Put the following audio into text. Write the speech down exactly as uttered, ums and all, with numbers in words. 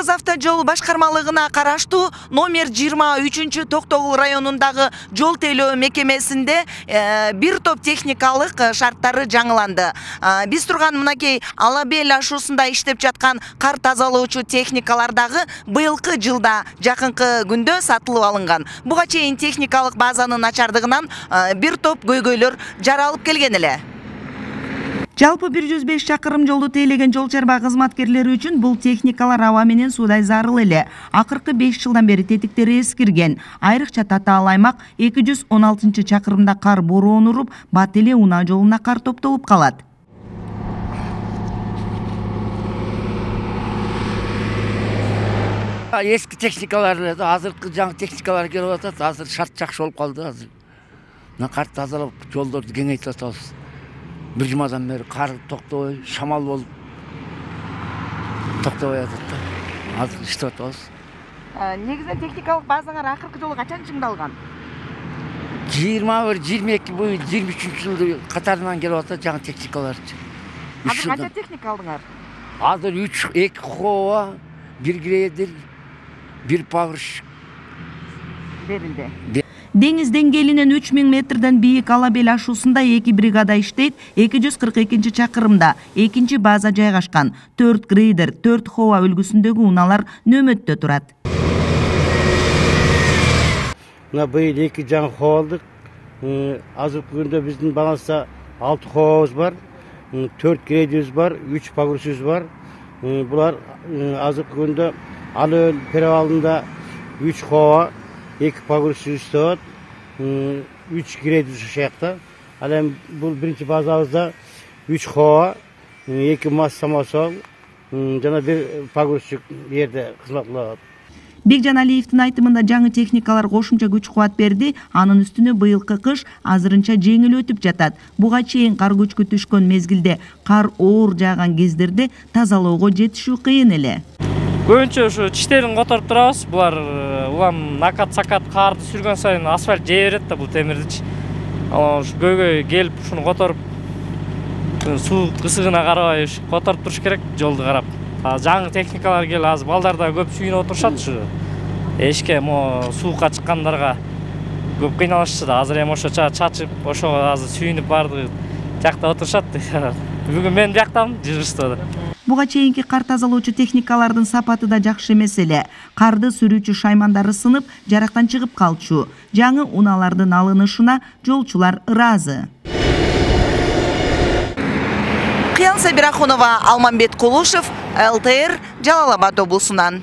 Кыргыз автожол башкармалыгына караштуу номер жыйырма үчүнчү Токтогул районундагы жол тейлөө мекемесинде бир топ техникалык шарттары жаңыланды. Биз турган мынакей Алабел ашуусунда иштеп жаткан кар тазалоочу техникалар дагы быйылкы жылда жакынкы күндө сатылып алынган. Буга чейин техникалык базанын начардыгынан бир топ көйгөйлөр жаралып келген эле. Жалпы бир жүз беш чакырым жолду тейлеген жол чарба кызматкерлери үчүн бул техникалар аба менен суудай зарыл эле. Акыркы беш жылдан бери тетиктери эскирген. Айрыкча Татаал аймак эки жүз он алтынчы чакырымда кар бороон уруп, бат эле унаа жолуна кар топтолуп калат. Эски техникалар, азыркы жаңы техникалар келип атат. Азыр шарт жакшы болуп калды. Азыр мына кар тазалап, жолдорду кеңейтип атабыз. Bir jumadan beri kar toktabay, şamal olup toktabay atат да. Азыр иштеп атабыз. Негизинен техникалык базаңар акыркы жолу качан чыңдалган? жыйырма бир жыйырма эки бу жыйырма үчүнчү жылды катарынан келип атат жаңы техникалар. Азыр канча техника алдыңар? Азыр үч, эки хова, бир грейдер, бир пагырщик берилди. Деңиз деңгээлинен үч миң метрден бийик Алабел ашуусунда эки бригада иштейт, эки жүз кырк экинчи чакырымда экинчи база жайгашкан. төрт грейдер, төрт хова үлгүсүндөгү унаалар нөмөттө турат. Мына быйыл эки жаңы хова алдык. Азыркы күндө биздин баланста алты ховабыз бар, төрт грейдерибиз бар, үч пагырщигибиз бар. Булар азыркы күндө Алабел перевалында үч хова, эки пагырщик иштеп, үч грейдер ушул жакта. Ал эми бул биринчи базабызда үч хова, эки мас самосол, жана бир пагырщик жерде кызмат кылат. Бекжан Алиевдин айтымында жаңы техникалар кошумча күч кубат берди. Анын үстүнө быйылкы кыш азырынча жеңил өтүп жатат. Буга чейин кар көчкү түшкөн мезгилде кар оор жааган кездерде тазалоого жетишүү кыйын эле. Көбүнчө ушу тиштерин которуп турабыз. Булар улам накат-сакат карды сүргөн сайын асфальт жей берет да бул темирдичи. Ушу көйгөй келип ушуну которуп, суу ысыгына карабай которуп туруш керек жолду карап. Жаңы техникалар келип азыр балдар да көп сүйүнүп отурушат ушу. Эшикке мо суукка чыккандарга көп кыйналышчу да. Азыр эми ошо чачып, ошого азыр сүйүнүп барды жакта отурушат. Бүгүн мен жактамын, жыгышты. Буга чейинки кар тазалоочу техникалардын сапаты да жакшы эмес эле. Карды сүрүүчү шаймандары сынып, жарактан чыгып калчу. Жаңы унаалардын алынышына жолчулар ыраазы. Кыял Сабирахунова, Алмамбет Кулушев, эл тэ эр, Жалал Абад облусунан.